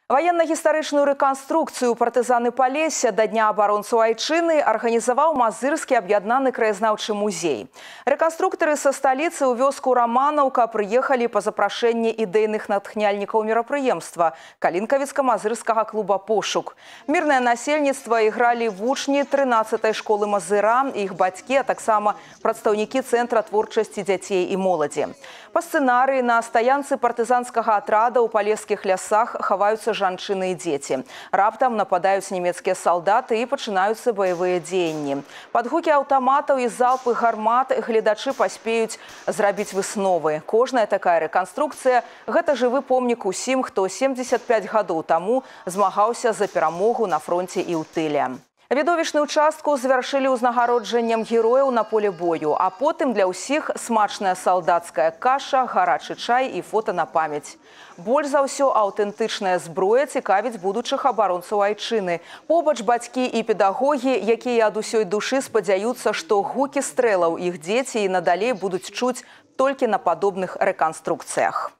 Военно-гістарычную рэканструкцыю партызаны Палесся да Дня абаронцаў Айчыны арганізаваў Мазырскі аб'яднаны краязнаўчы музей. Рэканструктары са сталіцы ў вёску Раманаўка прыехалі па запрашэнні ідэйных натхняльнікаў мерапрыемства Калінкавіцка-мазырскага клуба «Пошук». Мірнае насельніцтва ігралі вучні 13-й школы Мазыра, іх бацькі, а таксама прадстаўнікі Цэнтра творчасці дзяцей і моладзі. Па сцэнарыі на стаянцы партызанскага атрада ў палескіх лясах хаваюцца жанчыны і дзеці. Раптам нападаюць нямецкія салдаты і пачынаюцца баявыя дзеянні. Пад гукі аўтаматаў і залпы гармат гледачы паспеюць зрабіць высновы. Кожная такая рэканструкцыя – гэта жывы помнік усім, хто 75 гадоў таму змагаўся за перамогу на фронце і ў тыле. Відовішную частку завяршылі ўзнагароджаннем герояў на поле бою, а потым для ўсіх смачная салдацкая каша, гарачы чай і фота на памяць. Больш за ўсё аўтэнтычная зброя цікавіць будучых абаронцаў Айчыны. Побач бацькі і педагогі, якія ад усёй душы спадзяюцца, што гукі стрэлаў іх дзеці і надалей будуць чуць толькі на падобных рэканструкцыях.